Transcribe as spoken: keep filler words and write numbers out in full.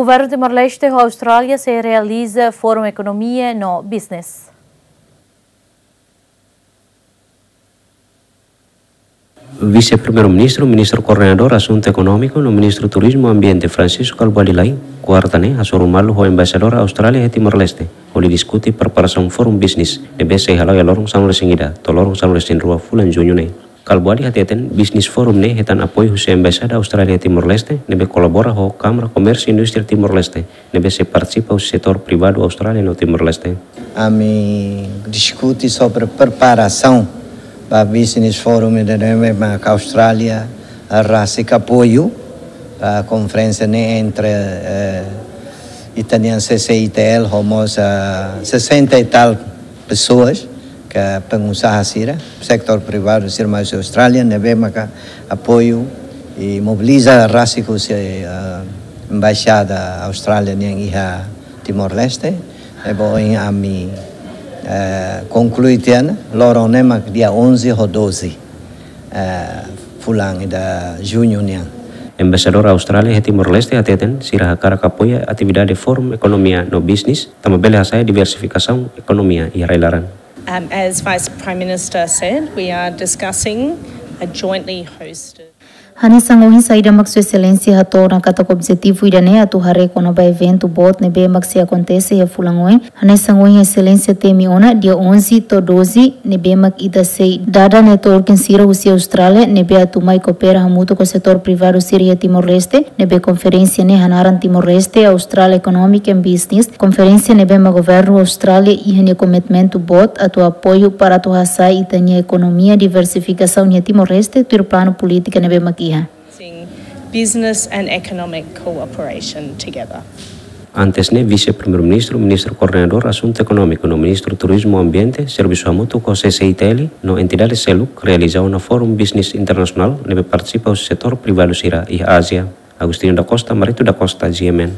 Governu Timor-Leste ho Austrália sei realiza Fórum Ekonomia no Business. Vise-Primeiru-Ministru, Ministru Koordenadór Asuntu Ekonómiku no Ministru Turizmu Ambiente Francisco Kalbuadi Lay, kuarta ne'e hasoru malu ho Embaixadór Austrália iha Timor-Leste, hodi diskute preparasaun Fórum Bisnis ne'ebé sei hala'o iha loron sanulu-resin-ida to'o loron sanulu-resin-rua fulan Juñu ne'e. Kalbuadi hateten, Business Forum ne'e hetan apoiu husi Embaixada Austrália iha Timor-Leste, ne'ebé kolabora ho Kámara Komérsiu Indústria Timor-Leste, ne'ebé sei partisipa husi setór privadu Austrália no Timor-Leste. Ami diskute sobre preparasaun ba Business Forum ida-ne'e, mak Austrália rasik apoiu ba konferénsia ne'e entre, eh, ita-nian C C I T L ho mós, ah, sesenta e tal pessoas, ke pengusaha sira, setór privadu sira mai husi Austrália, ne'ebé maka apoiu i mobiliza rasik husi, eh, Embaixada Austrália nian iha Timor-Leste, ne'ebé ohin ami, eh, konklui tiha ona, loron ne'e mak dia onze ho doze, eh, fulan ida Juñu nian. Embaixadór Austrália iha Timor-Leste hateten, sira hakarak apoia atividade Fórum Ekonomia no Bisnis, tanba bele hasa'e diversifikasaun ekonomia iha rai-laran. Um, as Vice Prime Minister said, we are discussing a jointly hosted. Hanesan ohin saida mak Sua Exelénsia hato'o ona katak objetivu ida-ne'e atu haree kona-ba eventu boot ne'ebé mak sei akontese iha fulan oin. Hanesan ohin Exelénsia temi ona dia onze to'o doze ne'ebé mak ita sei dada networking sira husi Austrália ne'ebé atu mai koopera hamutuk ho setór privadu sira iha Timor-Leste, ne'ebé konferénsia ne'e hanaran Timor-Leste Australia Economic and Business, konferénsia ne'ebé mak Governu Austrália iha nia komitmentu boot atu apoiu para atu hasa'e ita-nia ekonomia diversifikasaun iha Timor-Leste tuir planu polítika ne'ebé mak iha. Business and economic cooperation together. Antes ne'e, Vise-Primeiru-Ministru, Ministru Koordenadór Asuntu Ekonómiku no Ministru Turizmu Ambiente servisu hamutuk ho C C I T L no entidade seluk realiza ona Fórum Bisnis Internasionál ne'ebé partisipa husi setór privadu sira iha Ázia. Agostinho da Costa, Marito da Costa, G M N.